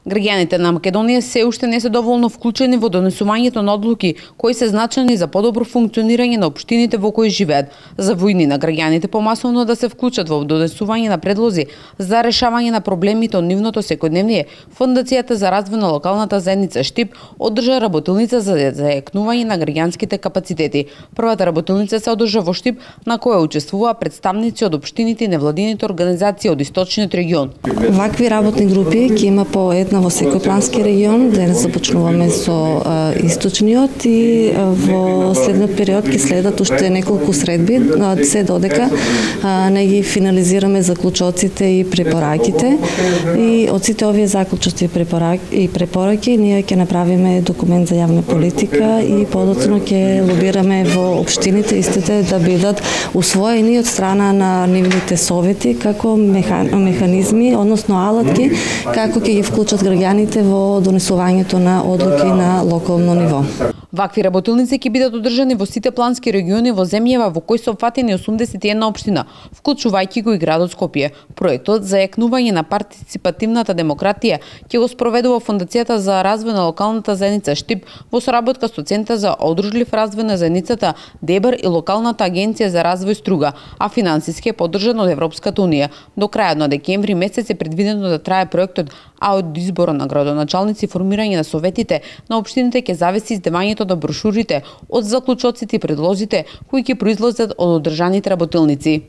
Граѓаните на Македонија се уште не се доволно вклучени во донесувањето на одлуки кои се значајни за подобро функционирање на општините во кои живеат. За војни на граѓаните помасовно да се вклучат во донесување на предлози за решавање на проблемите од нивното секојдневие, Фондацијата за развој на локалната заедница Штип одржа работилница за зајакнување на граѓанските капацитети. Првата работилница се одржа во Штип, на која учествуваа представници од општините и невладините организации од источниот регион. Вакви работни групи ќе има по една во секој плански регион. Денес започнуваме со источниот и во следниот период ќе следат уште неколку средби, се додека не ги финализираме заклучоците и препораките. И од сите овие заклучоци и препораки ние ќе направиме документ за јавна политика и подоцна ќе лобираме во општините истите да бидат усвоени од страна на нивните совети како механизми, односно алатки, како ќе ги вклучат граѓаните во донесувањето на одлуки на локално ниво. Вакви работилници ќе бидат одржани во сите плански региони во земјава во кои се опфатени 81 општина, вклучувајќи го и градот Скопје. Проектот за јакнување на партиципативната демократија ќе го спроведува Фондацијата за развој на локалната заедница Штип во соработка со Центар за одружлив развој на заедницата Дебар и локалната агенција за развој Струга, а финансиски е поддржан од Европската унија. До крајот на декември месец е предвидено да трае проектот, а од избора на градоначалници и формирање на советите на општините ќе зависи издавањето на брошурите од заклучоците и предлозите кои ќе произлезат од одржаните работилници.